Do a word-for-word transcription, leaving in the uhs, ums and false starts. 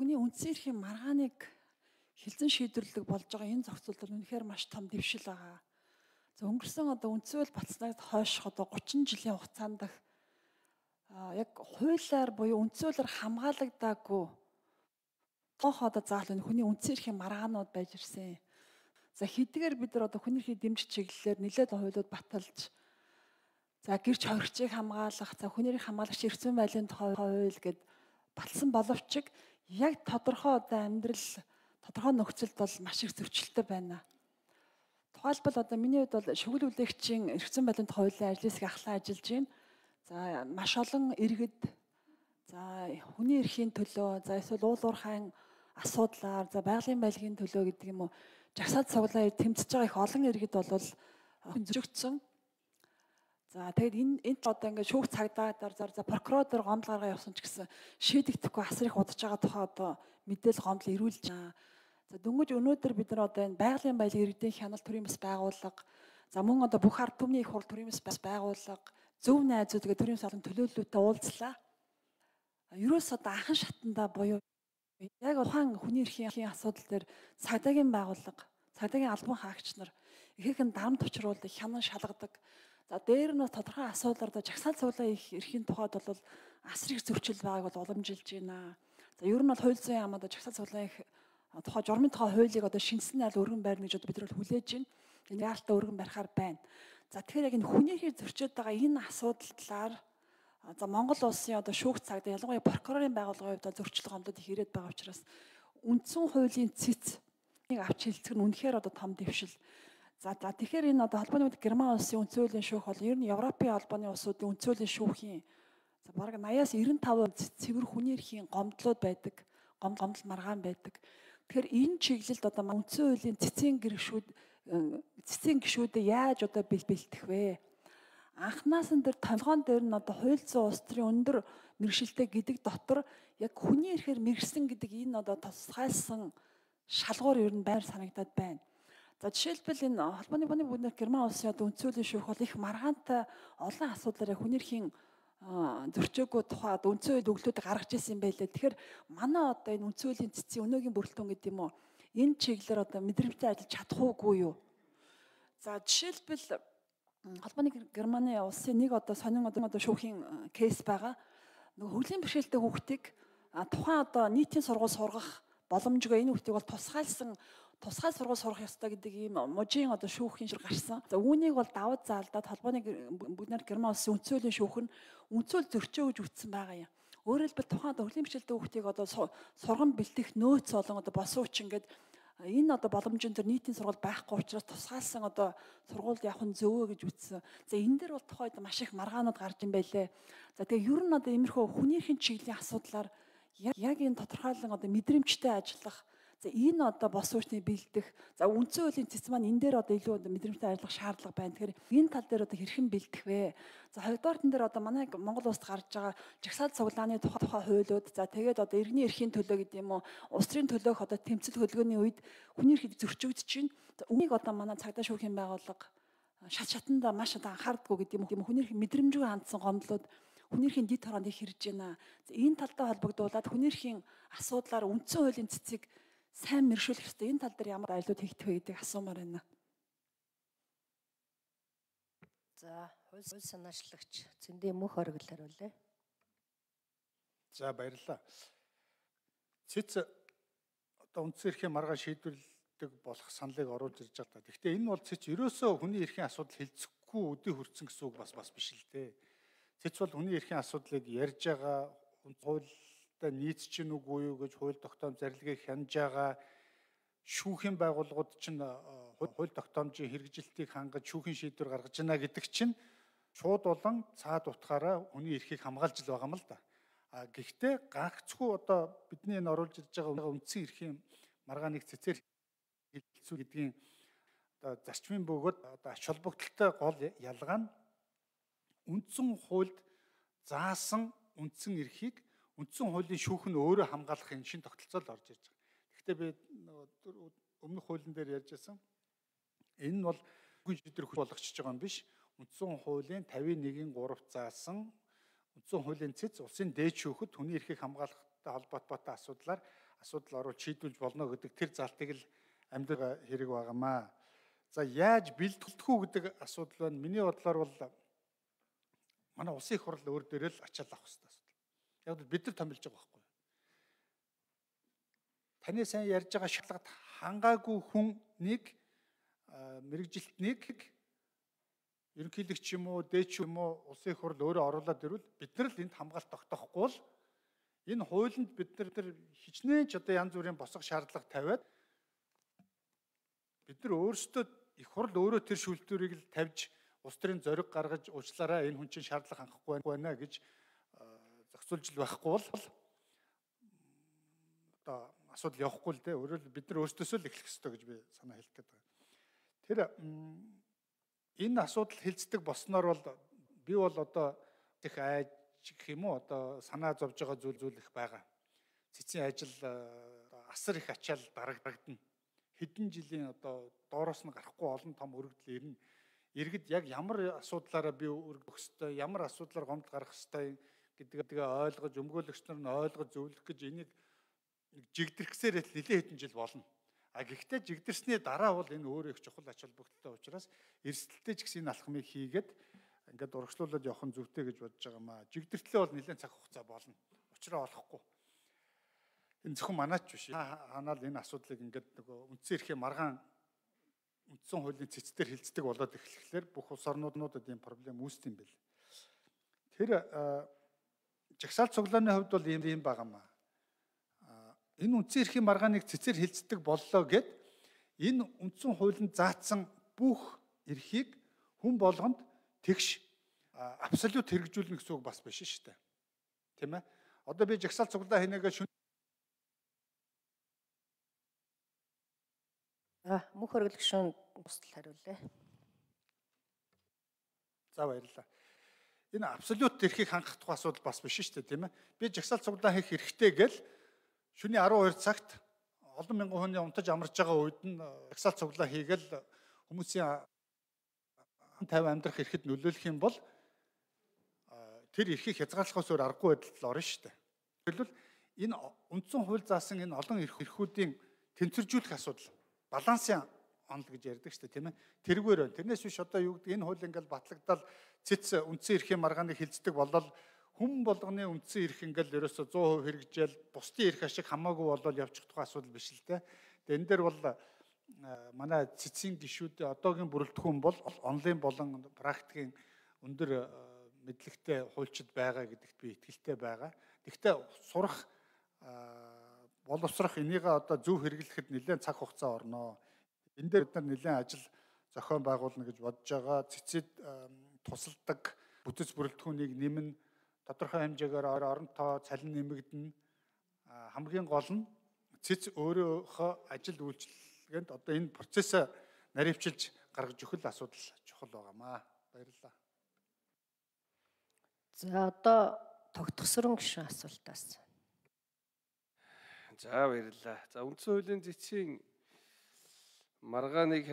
хүний үндсэн эрхийн маргааныг хилцэн шийдвэрлэх болж байгаа энэ зохицуулт бол үнэхээр маш том дэвшил байгаа. За өнгөрсөн одоо үндсэл батснаас хойш одоо гучин жилийн хугацаанд яг хуулиар буюу үндсэлээр хамгаалагдаагүй тоох одоо заал нь хүний үндсэн эрхийн маргаанууд байж ирсэн. За хэдийгээр бид нар одоо хүний эрхийн дэмжих чиглэлээр нэлээд хуулиуд баталж за гэрч хоригчийг хамгаалах, за хүний эрх хамгаалагч эрх зүйн байдлын тухай хууль гэд баталсан боловч яг тодорхой одоо амьдрал тодорхой нөхцөлд бол маш их зөрчилтэй байна. Тухайлбал одоо миний хувьд бол шүгэл үлээгчийн эрх зүйн байдлын тухай хуулийн ажлын хэсгийг ахлан ажиллаж байна. За маш олон иргэд за хүний эрхийн төлөө, за эсвэл уул уурхайн асуудлаар, за байгалийн байлгийн төлөө гэдэг юм уу жагсаалт цуглаан тэмцэж байгаа их олон иргэд бол зөвчөгдсөн. За тэгээд энэ энд одоо ингээд шүүх цагдаагаар за прокурор дээр гомдол гаргаа явсан ч гэсэн шийдэгдэхгүй асар их удаж байгаа тухай одоо мэдээлэл гомдол ирүүлж байгаа. За дөнгөж өнөөдөр бид нар одоо энэ байгалийн баялаг иргэдийн хяналт төрийн бас байгууллага, за мөн одоо бүх ард түмний их хурл төрийн бас байгууллага, зөв найзууд гэх төрийн салбарын төлөөллөлтөд уулзлаа. Ерөөс одоо анхан шатанда буюу яг ухаан хүний эрхийн асуудал дээр цагдаагийн байгууллага, цагдаагийн албан хаагч нар ихээхэн дарамт учруулдаг, хянан шалгадаг. За дээр нь тодорхой асуудлаар да жагсаал цуглаан их эрхийн тухайд бол асар их зөрчил байгааг бол уламжилж байна. За ер нь бол хууль зүйн яамд жагсаал цуглаан их тухай журмын тухай хуулийг одоо шинжсэн найл өргөн байрна гэж бид нар хүлээж байна. Энэ яалтаа өргөн барихаар байна. За тэгэхээр яг энэ хүний эрхийг зөрчиж байгаа энэ асуудлаар за Монгол улсын одоо шүүх цагдаа ялангуяа прокурорын байгууллагын хувьд зөрчил гомдод их ирээд байгаа учраас үндсэн хуулийн цэцийг авч хэлцэх нь үнэхээр одоо том дэвшил. За за тэгэхээр энэ одоо холбооны үед Герман улсын үндсэн хуулийн шүүх бол ер нь Европын холбооны улсуудын үндсэн хуулийн шүүхийн за бараг наяас девяносто процент цэвэр хүний эрхийн гомдлууд байдаг, гом гомдол маргаан байдаг. Тэгэхээр энэ чиглэлд одоо үндсэн хуулийн цэцгийн гэршүүд цэцгийн гишүүдэд яаж одоо бэлтгэх вэ? Анхнаасан дээр толгоон дээр нь одоо хууль зүйн улс төрийн өндөр мэргэжилтэй гэдэг дотор яг хүний эрхээр мэргэсэн гэдэг энэ одоо тусгайлсан шалгуур ер нь байр санагдаад байна. За жишээлбэл энэ холбооны бууны бүгд Герман улсын одоо үндсэн хуулийн шүүх бол их маргаантай олон асуудлаар хүний эрхийн зөрчөөгүй тухай одоо үндсэн хууль өглөөд гаргаж ирсэн юм байлээ. Тэгэхээр манай одоо энэ үндсэн хуулийн цэцгийн өнөөгийн бүрэлдэхүүн гэдэг юм уу? Энэ чиглэлээр одоо мэдрэмжтэй ажиллаж чадах уугүй юу? За жишээлбэл холбооны Германы улсын нэг одоо сонин одоо шүүхийн кейс байгаа. Нөгөө хөгжлийн бэрхшээлтэй хүүхдийг тухайн одоо нийтийн сургууль сургах боломжгүй энэ хүүхдийг бол тусгайлсан тусгай сургууль сурах ёстой гэдэг ийм мужийн одоо шүүхийн шүр гарсан. За үүнийг бол даваад заалдаад холбооны бүгд Герман улсын үндсэн хуулийн шүүх нь үндсүүл зөрчөө гэж үтсэн байгаа юм. Өөрөөр хэлбэл тухайн одоо хөгжлийн бэрхшээлтэй хүүхдийг одоо сургам бэлтгэх нөөц болон одоо босууч ингээд энэ одоо боломжийн төр нийтийн сургууль байхгүй учраас тусгаалсан одоо сургуульд явах нь зөвөө гэж үтсэн. За энэ дээр бол тухайд маш их маргаанууд гарч ин байлээ. За тэгээ ер нь одоо иймэрхүү хүний эрхийн чиглэлийн асуудлаар яг энэ тодорхойлон одоо мэдрэмжтэй ажиллах, за энэ одоо босуучны бэлдэх, за үндсэн хуулийн цэц маань энэ дээр одоо илүү одоо мэдрэмжтэй ажиллах шаардлага байна. Тэгэхээр энэ тал дээр одоо хэрхэн бэлдэх вэ? За хоёрдугаар тань дээр одоо манай Монгол улсад гарч байгаа жагсаал цуглааны тухай тухай хуулиуд, за тэгээд одоо иргэний эрхийн төлөө гэдэг юм уу, улс төрийн төлөөх одоо тэмцэл хөдөлгөөний үед хүний эрхийг зөрчигдөж чинь. Үнийг одоо манай цагдаа шүүхийн байгууллага шат шатанда маш одоо анхаардаггүй гэдэг юм уу, хүний эрхийн мэдрэмжгүй хандсан гомдлууд хүний эрхийн дид хороонд их хэрж байна. За энэ талтай холбогдуулаад хүний эрхийн асуудлаар үндсэн хуулийн цэцгийг сайн мэршүүлэх хэрэгтэй. Энэ тал дээр ямар ажлууд хийгдэх вэ гэдэг асуумаар байна. За, хууль санаачлагч Цэндээ мөх оргил хариулъя. За баярлалаа. Цэц одоо үндсэн эрхийн маргаан шийдвэрлэдэг болох саналыг оруулж ирж байгаа. Гэхдээ энэ бол цэц ерөөсөө хүний эрхийн асуудал хилцэхгүй өдөө хүрсэн гэсэн үг бас бас биш л дээ. Цэц бол хүний эрхийн асуудлыг ярьж байгаа, хуультай нийцж гин үгүй юу гэж хууль тогтоом зарилгыг хянаж байгаа, шүүхийн байгууллагууд чинь хууль тогтоомжийн хэрэгжилтийг хангаж шүүхийн шийдвэр гаргаж байна гэдэг чинь шууд болон цаад утгаараа хүний эрхийг хамгаалж л байгаа юм л да. А гэхдээ гагцхүү одоо бидний энэ оруулж ирж байгаа үндсэн эрхийн маргааныг цэцээр хэлэлцүү гэдгийн одоо зарчмын бөгөөд одоо ач холбогдолтой гол ялгаа нь үндсэн хуульд заасан үндсэн эрхийг үндсэн хуулийн шүүх нь өөрөө хамгаалахын шин тогтолцоо л орж ирж байгаа. Гэхдээ би өмнөх хуулийн дээр ярьж байсан. Энэ нь бол хүн шийдвэр болгочихж байгаа юм биш. Үндсэн хуулийн тавийн нэгin гурав заасан үндсэн хуулийн цэц улсын дээд шүүхэд хүний эрхийг хамгаалах холбоотой асуудлаар асуудал оруулж шийдвүүлж болно гэдэг тэр залтыг л амьдрал хэрэг байгаамаа. За яаж бэлтгэх үү гэдэг асуудал байна. Миний бодлоор бол манай улсын их хурл өөр дээрээ л ачаал авах хэрэгтэй асуудал. Яг л бид нар томилж байгаа байхгүй. Таны сайн ярьж байгаа шалгалт хангаагүй хүнийг мэрэгжилтнийг ерөнхийлөгч юм уу, дээч юм уу, улсын их хурл өөрөө оруулаад ирвэл бид нар л энд хамгаалт тогтоохгүй бол энэ хуулинд бид нар хичнээн ч одоо янз бүрийн босго шаардлага тавиад бид нар өөрсдөө их хурл өөрөө тэр шүүлтүүрийг л тавьж улс төрийн зориг гаргаж уучлаарай энэ хүн чинь шаардлага хангахгүй байна гэж зохицуулж л байхгүй бол одоо асуудал явахгүй л дээ. Өөрөөр бид нар өөрсдөөсөө л эхлэх ёстой гэж би санаа хэлдэг байгаа. Тэр энэ асуудал хилцдэг болсноор бол би бол одоо их айж гэх юм уу одоо санаа зовж байгаа зүйл зүйл их байгаа. Цэцгийн ажил асар их ачаал дарагдана. Хэдэн жилийн одоо доороос нь гарахгүй олон том өргөдөл ирнэ. Иргэд яг ямар асуудлаараа би өргөх ёстой, ямар асуудлаар гомдол гарах ёстой гэдгээ ойлгож, өмгөөлөгч нар нь ойлгож зөвлөх гэж энийг жигдэрхсээр л нэлээд хэдэн жил болно. А гэхдээ жигдэрсний дараа бол энэ өөрөө их чухал ач холбогдолтой учраас эрсдэлтэй ч гэсэн энэ алхмыг хийгээд ингээд урагшлуулад явах нь зөвтэй гэж бодож байгаа маа. Жигдэртлээ бол нэлээд цаг хугацаа болно. Учраа олохгүй. Энэ зөвхөн манайч биш. Ханаал энэ асуудлыг ингээд нөгөө үндсэн эрхийн маргаан үндсэн хуулийн цэцээр хилцдэг болоод эхлэхлээр бүх улс орнуудад ийм проблем үүсдэг юм бэл. Тэр жагсаалт цуглааны хувьд бол ийм юм байгаамаа. Энэ үндсэн эрхийн маргааныг цэцээр хилцдэг боллоо гэд энэ үндсэн хуулинд заасан бүх эрхийг хүн болгонд тэгш абсолют хэрэгжүүлнэ гэсэн үг бас биш шүү дээ. Тийм ээ. Одоо би жагсаалт цуглаа хийнэгээ шүн А мөнх хөргөлгшүүн бусдал хариулъя. За баярлалаа. Энэ абсолют эрхийг хангах тухай асуудал бас биш шүү дээ, тийм ээ. Би жагсаалт цуглаа хийх хэрэгтэй гэл шөнийн арван хоёр цагт олон мянган хүний унтаж амарч байгаа үед нь жагсаалт цуглаа хийгээл хүмүүсийн тавь амьдрах эрхэд нөлөөлөх юм бол тэр эрхийг хязгаарлахаас өөр аргагүй байдалд орно шүү дээ. Тэгвэл энэ үндсэн хууль заасан энэ олон эрхүүдийн тэнцвэржүүлэх асуудал балансын онол гэж ярьдаг шүү дээ, тийм ээ. Тэргээр байна. Тэрнээс биш одоо юу гэдэг энэ хууль ингээл батлагдал цэц үндсэн эрхийн маргааныг хилцдэг болол хүн болгоны үндсэн эрх ингээл ерөөсө цуун хувь хэрэгжээл бусдын эрх ашиг хамаагүй болол явчих тухай асуудал биш л дээ. Тэгээ энэ дээр бол манай цэцгийн гишүүд одоогийн бүрэлдэхүүн бол онлайн болон практикийн өндөр мэдлэгтэй хуульчид байгаа гэдэгт би итгэлтэй байгаа. Гэхдээ сурах боловсрох энийг одоо зөв хэрэглэхэд нэлээд цаг хугацаа орно. Энэ дээр бид нар нэлээд ажил зохион байгуулна гэж бодож байгаа. Цэцэд тусалдаг бүтэц бүрэлдэхүүнийг нэмэн тодорхой хэмжээгээр орон тоо цалин нэмэгдэнэ. Хамгийн гол нь цэц өөрийнхөө ажил үйлчилгээнд одоо энэ процессыг наривчилж гаргаж өгөх асуудал чухал байгаамаа. Баярлалаа. За одоо тогтгосрон гишүүн асуултаас. За баярлалаа. За үндсэн хуулийн цэцгийн маргааныг